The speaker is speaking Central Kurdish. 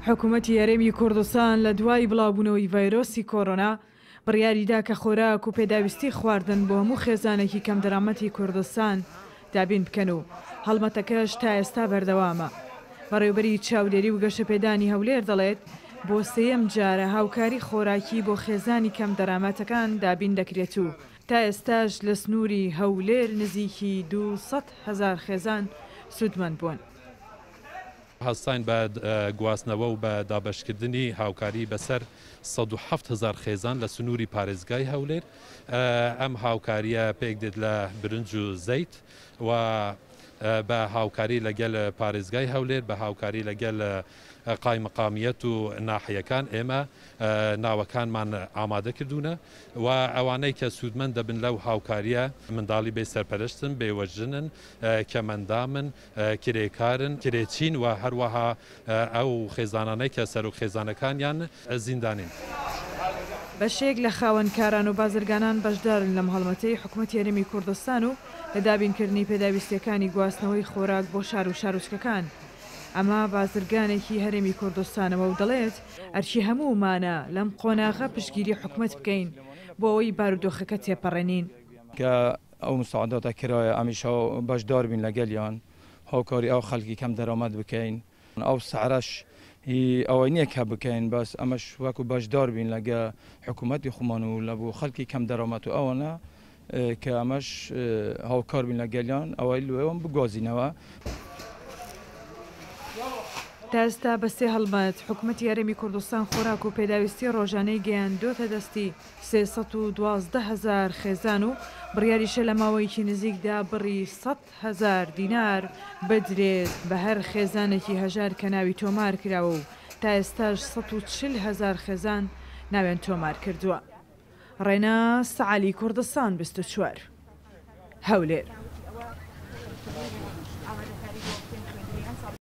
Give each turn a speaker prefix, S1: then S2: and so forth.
S1: حکومەتی هەرێمی کوردستان لە دوای بڵاوبوونەوەی ڤایرۆسی کۆرۆنا بڕیاریدا کە خۆراک و پێداویستی خواردن بۆ هەموو خێزانێکی کەمدەرامەتی کوردستان دابین بکەن و هەڵمەتەکەش تا ئێستا بەردەوامە. بەڕێوبەری چاودێری و گەشەپێدانی هەولێر دەڵێت، بۆ سێیەم جارە هاوکاری خۆراکی بۆ خێزانی کەمدەرامەتەکان دابین دەکرێت و تا ئێستاش لە سنووری هەولێر نزیکی 200,000 خێزان سوودمەند بوون.
S2: هەستاین بە گواستنەوە و بە دابەشکردنی هاوکاری بەسەر 107 هەزار خێزان لە سنووری پارێزگای هەولێر. ئەم هاوکارییە پێکدێت لە برنج و زەیت و بە هاوکاری لەگەل پارێزگای هەولێر، بە هاوکاری لەگەل قایمقامیەت و ناحیەکان ئێمە ناوەکانمان ئامادە کردوونە و ئەوانەی کە سوودمەند دەبن لەو هاوکارییە منداڵی بێ سەرپەرشتن، بێوەژنن، کەمئەندامن، کرێکارن، کرێچین و هەروەها ئەو خێزانانەی کە سەرۆک خێزانەکانیان زیندانین.
S1: بەشێک لە خاوەن کاران و بازرگانان بەشدارن لەم هەڵمەتەی حکومەتی هەرێمی کوردستان و لە دابینکردنی پێداویستییەکانی گواستنەوەی خۆراک بۆ شار و شارۆچکەکان. ئەمە بازرگانێکی هەرێمی کوردستانەوە و دەڵێت، ئەرکی هەموومانە لەم قۆناغە پشتگیری حکومەت بکەین بۆ ئەوەی بارودۆخەکە تێپەڕێنین.
S3: کە ئەو مساعداتە کرایە ئەمیش بەشدار بین لەگەلیان، هاوکاری ئەو خەڵکی کەم دەرامەت بکەین. ئەو سعرەش هی ئەوەی نییە کە بکەین، بەس ئەمەش وەکو بەشدار بین لەگە حکوومەتی خۆمان و لە بۆ خەڵکی کەم دەرامەت و ئەوانە کە ئەمەش هاوکار بین لەگەلیان ئەوەی لەوێوە بگوازینەوە.
S1: تا ئێستا بە سێ هەڵمەت حکومەتی هەرێمی کوردستان خۆراک و پێداویستی ڕۆژانەی گەیاندۆتە دەستی 312,000 خێزان و بڕیاریشە لە ماوەیەکی نزیکدا بڕی 100,000 دینار بدرێت بە هەر خێزانێکی هەژار کە ناوی تۆمار کراوە و تا ئێستاش 140,000 خێزان ناویان تۆمار کردووە. ڕێناس عەلی کوردستان 24 هەولێر.